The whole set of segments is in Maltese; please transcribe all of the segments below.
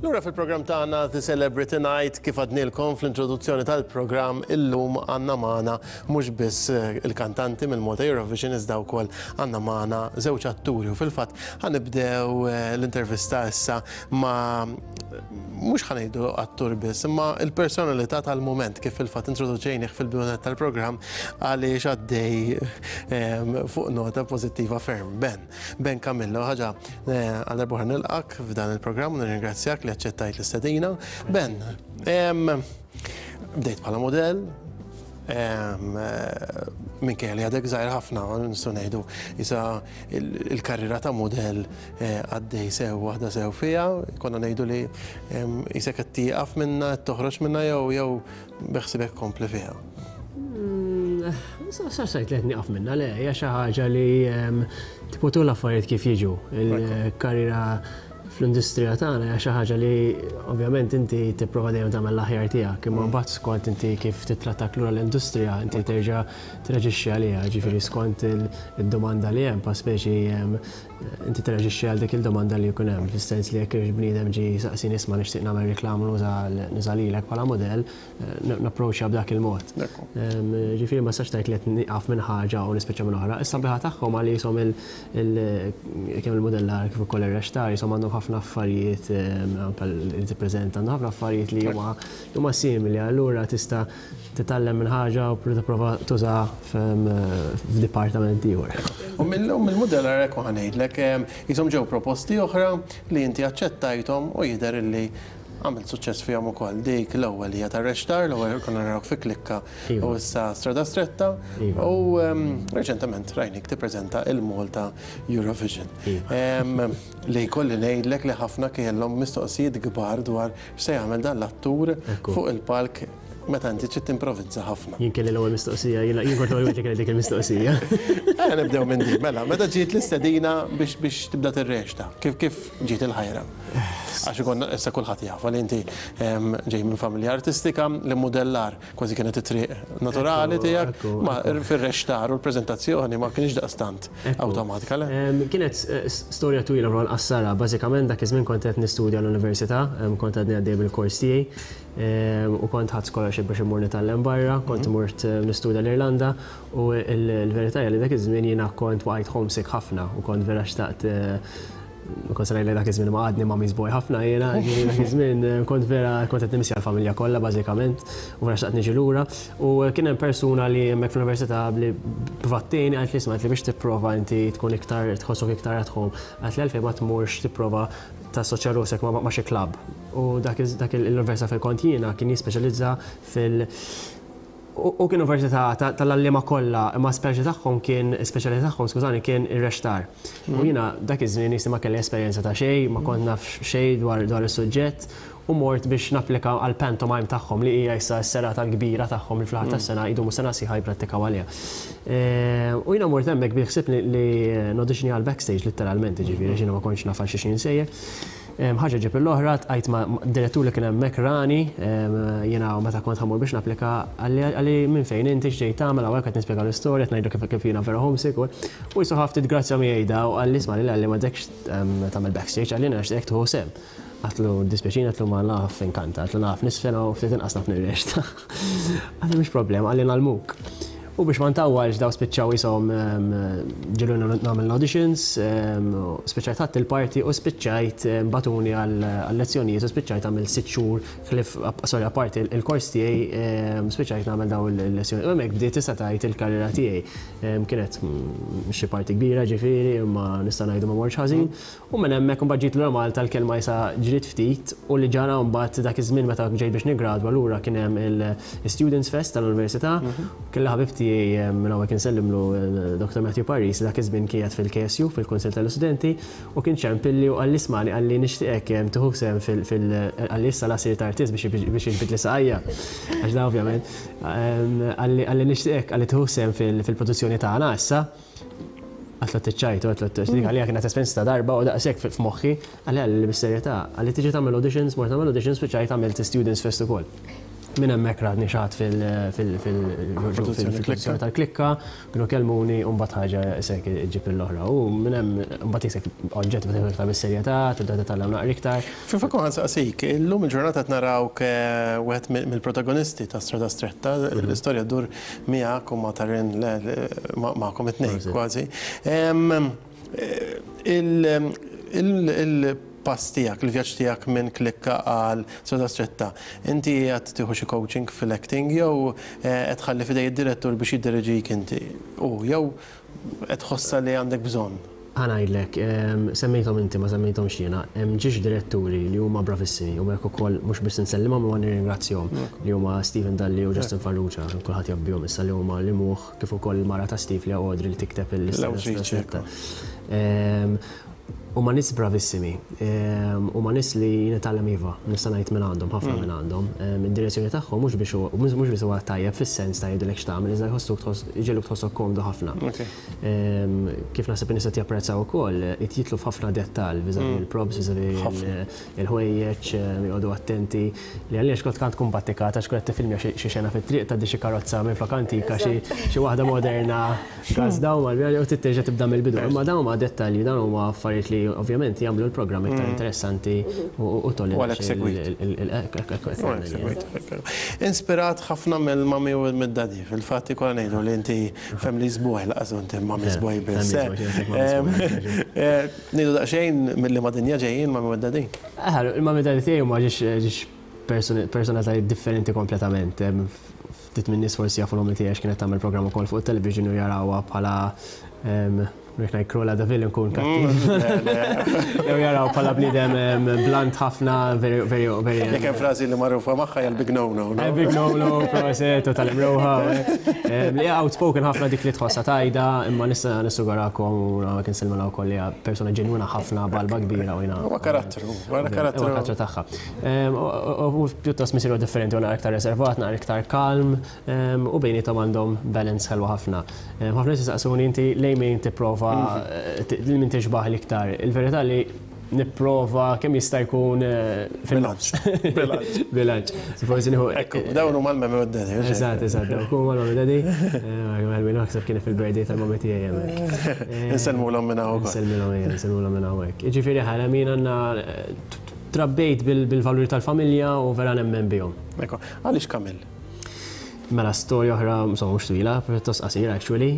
Lura fil-programm tagħna The Celebrity Night kif għadnilkom fl-introduzzjoni tal-programm illum għandna magħna mhux biss eh, il-kantanti mill-Malta Eurovision iżda wkoll għandna magħna żewġ atturi u fil-fatt ħanibdew eh, l-intervista issa ma' mhux ħanejdu attur biss, imma il-personalità tal-mument kif fil-fatt introduċejnih fil-bidunet tal-programm għaliex għaddej eh, fuq nota pożittiva ferm. Ben, Ben Camillo, ħaġa eh, għal darba nilqak f'dan il-programm u nirringrazzjak li aċċettajt l-istedina. Ben, bdejt bħala modell, eh, minkejja li għadek żgħir ħafna, nistgħu ngħidu isa il-karriera ta' modell eh, għaddej sew waħda sew fiha, konna ngħidu li isek qed tieqaf minna, toħroġ minna jew jew Beħsibek tkompli fiha? Sa sajt li qed nieqaf minnha, le, hija xi ħaġa li tipo tu l-affarijiet kif jiġu. Il-karriera fl-industrija tagħna hija xi ħaġa li ovvjament inti tipprova dejjem tagħmel l-aħjar tiegħek, imma mbagħad skont inti kif tittrattak lura l-industrija inti terġa' tirreġixxi għaliha, ġifieri skont id-domanda li hemm, pa speċi inti tirreġixxi għal dik il-domanda li jkun hemm, fis-sens li jekk bniedem ġie jsaqsini isma' nixtieq nagħmel reklam u nuża nuża lilek bħala mudell, napproċċja b'dak il-mod. Ġifieri ma tistax tgħid li qed nieqaf minn ħaġa u nispiċċa minn oħra. Is-sabiħa tagħhom għal qishom il kemm il-mudellar kif ukoll ir-rextar qishom għandhom ħafna affarijiet anke li tippreżenta għandhom ħafna affarijiet li huma huma simili allura tista' Titgħallem minn ħaġa u tipprova tużaha f'dipartament ieħor. U mill-mudell hekk ħa ngħidlek, qishom ġew proposti oħra li inti aċċettajthom u jidher illi għamilt suċċess fihom ukoll. Dik l-ewwel hija tar-Rextar, l-ewwel konna narawk fi Klikka u issa Strada Stretta u reċentement rajnik tippreżenta il-Malta Eurovision. Li jkolli ngħidlek li ħafna kellhom mistoqsijiet kbar dwar x'se jagħmel dan l-attur fuq il-palk Meta inti trid timprovizza ħafna. Jien kelli l-ewwel mistoqsija, jiena jien kont l-ewwel wieħed li kelli dik il-mistoqsija. Ejja nibdew minn din, mela, meta ġiet l-istedina biex biex tibda tirreċta, kif kif ġiet il-ħajra? Għax ikun issa kulħadd jaf li inti ġej minn familja artistika, l-immudellar kważi kienet it-triq naturali tiegħek, ma fir-reċtar u l-preżentazzjoni ma kienx daqstant awtomatika, le? Kienet storja twila però nqassarha. Bażikament dak iż-żmien kont qed nistudja l-università, kont għadni għaddej bil-kors tiegħi. U kont ħadt scholarship biex immur nitgħallem barra, kont mort nistudja l-Irlanda u l-verità hija li dak iż-żmien jiena kont waqajt homesick ħafna u kont vera xtaqt kont se ngħidlek dak iż-żmien imma għadni mommy's boy ħafna jiena, ġifieri dak iż-żmien kont vera kont qed nimissja l-familja kollha bażikament u vera xtaqt niġi lura. U kien hemm persuna li hemmhekk fl-università li b'vattini qaltli isma' qaltli biex tipprova inti tkun iktar tħossok iktar at home, qaltli għalfejn ma tmurx tipprova tassoċja ruħsek ma' xi klabb. U dak l-università fejn kont jiena kien jispeċjalizza fil- u kien università tal-għalliema kollha, imma speċi tagħhom kien, is-speċjalità tagħhom, skużani, kien ir-rextar. U jiena dak iż-żmien qisni ma kelli esperjenza ta' xejn, ma kont naf xejn dwar is-suġġett u mort biex napplika għall-pantomime tagħhom li hija issa s-serata l-kbira tagħhom li fl-aħħar tas-sena jdumu sena sħiħa jipprattikaw għaliha. U jiena mort hemmhekk bi ħsieb li nodixni għall-backstage litteralment, jiġifieri għax jiena ma kontx naf għal xiex jien sejjer. Ħaġa ġġib lill-oħra, tqajt ma' direttur li kien hemmhekk rani, jiena meta kont ħa mmur biex napplika, qalli qalli minn fejn inti, x'ġej tagħmel hawnhekk, qed nispjegalu l-istorja, qed ngħidlu kif kif jiena vera homesick u u qisu ħa ftit grazzja miegħi da u qalli isma' lili qalli m'għadekx tagħmel backstage, qalli jiena nixtieqek tieħu sehem. Għedtlu dispjaċini, għedtlu ma naf inkanta, għedtlu naf niżfen u ftit inqas naf nirrexta. Qalli mhix problema, qalli ngħallmuk. U biex ma ntawwalx daw spiċċaw qishom ġegħluni nagħmel l-auditions, spiċċajt ħadt il-parti u spiċċajt bagħtuni għal-lezzjonijiet u spiċċajt għamilt sitt xhur ħlief sorry apparti il-kors tiegħi spiċċajt nagħmel daw il-lezzjonijiet. U hemmhekk bdiet tista' tgħid il-karriera tiegħi. Kienet xi parti kbira ġifieri imma nista' ngħidu ma mortx ħażin. U minn hemmhekk imbagħad ġejt lura Malta l-kelma isa ġriet ftit u li ġara mbagħad dak iż-żmien meta ġejt biex niggradwa lura kien hemm il-Students Fest tal-Università. Kelli ħabib tiegħi minn hawnhekk insellimlu Dr. Matthew Paris li dak iż-żmien kien qiegħed fil-KSU fil-Kunsill tal-Istudenti u kien ċempilli u qalli ismagħni qalli nixtieqek tieħu sehem fil qalli issa la sirt artist biex biex jiġbidli saqajja. Għax da ovvjament qalli nixtieqek qalli tieħu sehem fil-produzzjoni tagħna issa. Għatlu tiċċajtu, għatlu dik għalija kienet esperjenza ta' darba u daqshekk f'moħħi, qalli qalli bis-serjetà, qalli tiġi tagħmel auditions, mort nagħmel auditions spiċċajt għamilt students fest ukoll. Minn hemmhekk ratni xi ħadd fil-produzzjoni tal-Klikka, kienu kellmuni u mbagħad ħaġa isek iġġib l-oħra. U minn hemm mbagħad isek oġġett tibda iktar bis-serjetà, tibda titgħallem naqra iktar. Fil-fatt kont ħa nsaqsik, illum il-ġurnata qed narawk wieħed mill-protagonisti ta' Strada Stretta, l-istorja ddur miegħek u ma' Taryn, magħkom it-tnejn kważi. Il-pass tiegħek, il-vjaġġ tiegħek minn Klikka għal Strada Stretta, inti qiegħed tieħu xi coaching fil-acting jew qed tħalli f'idej id-direttur biex jiddiriġik inti hu jew qed tħossha li għandek bżonn? Ħa ngħidlek, semmejthom inti ma semmejthomx jiena, hemm ġiex diretturi li huma bravissimi u hekk ukoll mhux biss insellimhom imma nirringrazzjahom li huma Stephen Dalli u Justin Farrugia, kulħadd jaf bihom issa li huma l-imgħuħ kif ukoll il-mara ta' Steve li hija Audrey li tikteb il-L-istorja. Huma nies bravissimi. Huma nies li nitgħallem iva, nista' ngħid minn għandhom, ħafna minn għandhom. Id-direzzjoni tagħhom mhux biex mhux biss huwa tajjeb fis-sens ta' jgħidulek x'tagħmel, iżda jħossuk tħoss iġegħluk tħossok komdu ħafna. Kif naħseb in-nies qed japprezzaw ukoll, qed jidħlu f'ħafna dettall vis-à-vis il-props, vis-à-vis il-ħwejjeġ, joqogħdu attenti. Li għaliex kont kant tkun battikata għax kont qed tifilmja xi xena fit-triq tgħaddi xi karozza minflok antika xi waħda moderna gas dawn mal u trid terġa' tibda mill-bidu. Imma dawn huma dettalji, dawn huma affarijiet li ovvjament jagħmlu l-programm iktar interessanti u tolli. U għalhekk segwit. Inspirat ħafna mill-mummy u mid-daddy. Fil-fatt ikollna ngħidu li inti family's boy lanqas inti mommy's boy biss. Ngħidu daqsxejn mill-liema dinja ġejjin mummy u d-daddy? Il-mummy u daddy tiegħi huma ġiex personalitajiet differenti kompletament. Ftit min-nies forsi jafu l-ommi tiegħi għax kienet tagħmel programm ukoll fuq it-television u jarawha bħala Mhux ngħid Cruella de Vil nkun kattiv. Jew jaraw bħala bniedem blunt ħafna, very, very, very. Jekk hemm frażi li magħrufa magħha hija l-big no no. no? Big no no, proset u tal-imruħa. Li outspoken ħafna dik li tħossha tajda, imma nista' nissugurakom u kien silmela wkoll li hija persuna ġenwina ħafna b'alba kbira u jiena. Huwa karattru, huwa karattru. Huwa karattru tagħha. U pjuttost missier differenti u naqra iktar reservat, naqra iktar kalm. U bejniethom għandhom balance ħelwa ħafna. Ħafna nies jistaqsuni inti lejn min tipprova lil min tixbah l-iktar. Il-verità li nipprova kemm jista' jkun fil-nofs. Bilanċ. Bilanċ. Forsi nieħu. Ekku, dawn huma l-mummy u d-daddy. Eżatt, eżatt, dawk huma l-mummy u daddy. Għalmin naħseb kien fil-birthday tal-mummy tiegħi hemmhekk. Insellmulhom minn hawn ukoll. Insellmilhom, insellmulhom minn hawnhekk. Jiġifieri ħa min għandna trabbejt bil-valuri tal-familja u vera nemmen bihom. Ekku, għaliex Kamil? Mela storja oħra, insomma mhux twila, pjuttost qasira actually.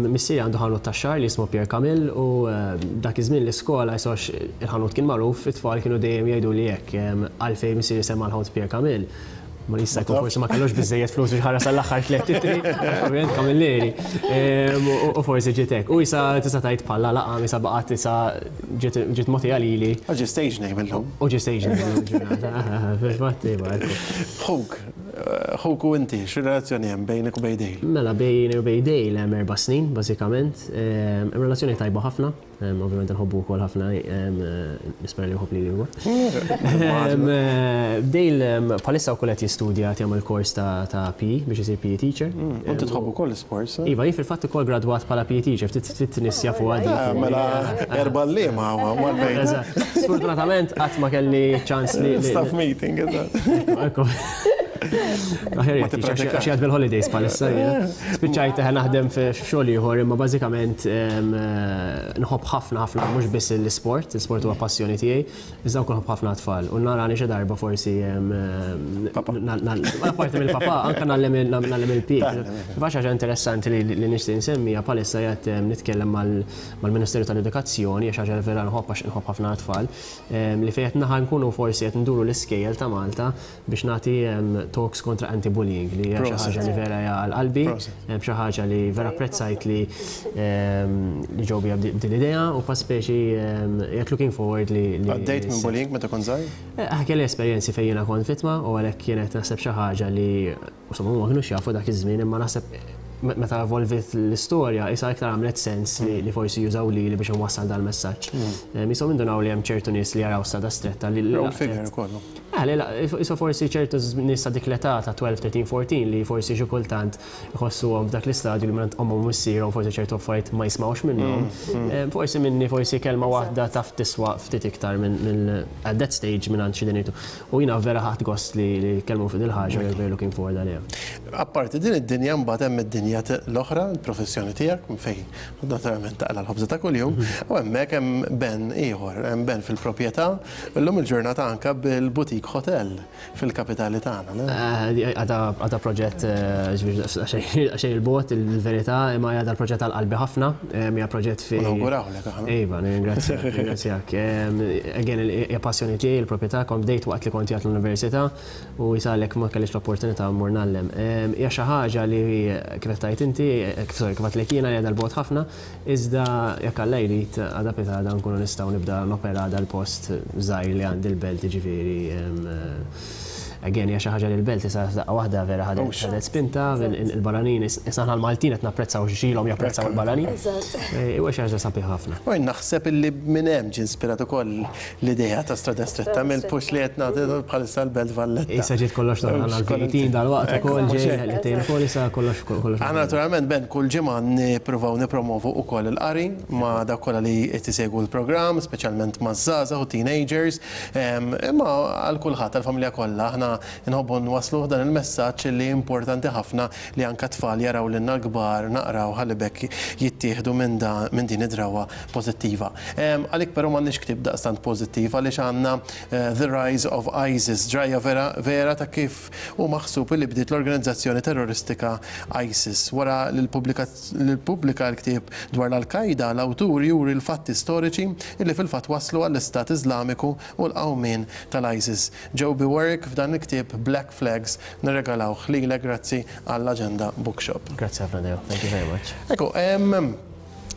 Missieri għandu ħanut tax-xagħar li jismu Pierre Camille u dak iż-żmien l-iskola jisox il-ħanut kien magħruf, it-tfal kienu dejjem jgħiduli hekk għalfejn missieri semma l-ħanut Pierre Camille. Ma jista' jkun forsi ma kellux biżejjed flus biex ħares għall-aħħar tliet titri, ovvjament Camilleri. U forsi ġiet hekk. U issa tista' tgħid bħala laqam issa baqgħet issa ġiet mogħtija lili. U ġie stage name illum. U ġie stage name illum ġurnata. Fil-fatt iva. Ħuk, ħuk u inti, x'relazzjoni hemm bejnek u bejn Dale? Mela bejni u bejn Dale hemm 4 snin bażikament. Hemm relazzjoni tajba ħafna. Ovvjament nħobbu wkoll ħafna, nispera li jħobb lili wkoll. Dale bħalissa wkoll qed jistudja qed jagħmel kors ta' PE biex isir PE teacher. Inti tħobb ukoll l-sports? Iva, jien fil-fatt ukoll gradwat bħala PE teacher, ftit ftit nies jafu għadi. Mela erba' għalliema mal-bejt. Sfortunatament qatt ma kelli ċans li. Staff meeting, eżatt. Aħjar għax jgħad bil-holidays bħalissa. Spiċċajt naħdem f'xogħol ieħor imma bażikament nħobb ħafna ħafna mhux biss l-isport, l-isport huwa passjoni tiegħi, iżda wkoll nħobb ħafna tfal. U narani xi darba forsi apparti mill-papà anke ngħallem il-PE. Faċ ħaġa interessanti li nixtieq insemmi bħalissa qed nitkellem mal-Ministeru tal-Edukazzjoni għax ħaġa vera nħobb għax nħobb ħafna tfal li fejn qed naħa nkunu forsi qed nduru l-iskejjel ta' Malta biex nagħti talks kontra anti-bullying li hija xi ħaġa li vera hija għal qalbi, xi ħaġa li vera apprezzajt li li ġew bija b'din l-idea u pa speċi qed looking forward li. Għaddejt minn bullying meta kont żgħir? Kelli esperjenzi fejn jiena kont vittma u għalhekk kienet naħseb xi ħaġa li insomma huma ma kinux jafu dak iż-żmien imma naħseb meta evolvit l-istorja, issa iktar għamlet sens li forsi jużaw li biex nwassal dal-messaġġ. Jisom indunaw li hemm ċertu nies li jaraw Strada Stretta li Role figure kollu. Le, forsi ċertu nies ta' dik l-età ta' 12, 13, 14 li forsi xi kultant jħossuhom f'dak l-istadju li minn ommhom u missierhom forsi ċertu affarijiet ma jismawx minnhom. Forsi minni forsi kelma waħda taf tiswa ftit iktar minn at that stage minn għand xi dinitu. U jiena vera ħadt gost li kelmu fuq dil-ħaġa, we're very looking forward għaliha. Apparti din id-dinja, mbagħad hemm id-dinja l-oħra, il-professjoni tiegħek, fejn naturalment taqla l-ħobża ta' kuljum, u hemmhekk hemm Ben ieħor, hemm Ben fil-proprjetà, illum il-ġurnata anka bil-boutique hotel fil-kapitali tagħna, le? Għada proġett xejn il-bot, il-verità, imma għada l-proġett għal-qalbi ħafna, hija proġett fi. Nawgurawlek aħna. Iva, ringrazzjak. Again, hija passjoni tiegħi il-proprjetà, kont bdejt waqt li kont jgħat l-università u jisalek ma kellix l-opportunità mmur ngħallem. Hija xi ħaġa li kif qed tgħid inti, kif, sorry, kif għedtlek jiena, li għadha l-bot ħafna, iżda jekk Alla jrid, għada pitgħada nkunu nistgħu nibda nopera dal-post żgħir li għandi l-Belt, ġifieri again, hija xi ħaġa li l-Belt issa daqqa waħda vera ħadet spinta, il-barranin, issa aħna l-Maltin qed napprezzaw xilhom japprezzaw il-barranin. Huwa xi ħaġa sabiħ ħafna. U naħseb illi minn hemm ġie inspirat ukoll l-idea ta' Strada Stretta mill-push li qed nagħti bħalissa l-Belt Valletta. Issa ġiet kollox taħna l-18 dal-waqt ukoll ġej li tgħin ukoll issa kollox kollox. Aħna naturalment, Ben, kull ġimgħa nippruvaw nipromovu ukoll il-qari ma' dak kollha li qed isegwu l-programm, speċjalment maż-żgħażagħ u teenagers, imma għal kulħadd, għall-familja kollha, aħna nħobbu nwasslu dan il-messaġġ li importanti ħafna li anka tfal jaraw lilna l-kbar naqraw ħalli bekk jittieħdu minn din id-drawa pożittiva. Għalik però m'għandniex ktieb daqstant pożittiv għaliex għandna The Rise of ISIS, ġrajja vera ta' kif hu maħsub li bdiet l-organizzazzjoni terroristika ISIS. Wara li ppubblika l-ktieb dwar l-Al-Qaeda, l-awtur juri l-fatti storiċi illi fil-fatt waslu għall-Istat Iżlamiku u l-qawmien tal-ISIS. Joby Warrick f'dan il-ktieb Black Flags nirregalawh lilek grazzi għall-Agenda Bookshop. Grazzi ħafna, Deo, thank you very much. Ekku,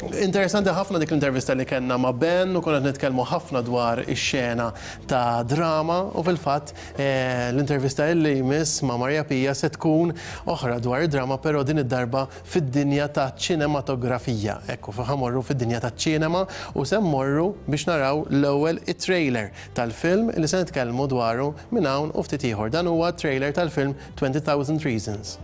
interessanti ħafna dik l-intervista li kellna ma' Ben u konna nitkellmu ħafna dwar ix-xena ta' drama u fil-fatt l-intervista illi jmiss ma' Maria Pia se tkun oħra dwar id-drama, però din id-darba fid-dinja ta' ċinematografija. Ekku, ħa mmorru fid-dinja ta' ċinema u se mmorru biex naraw l-ewwel it-trailer tal-film li se nitkellmu dwaru minn hawn u ftit ieħor. Dan huwa trailer tal-film 20,000 Reasons.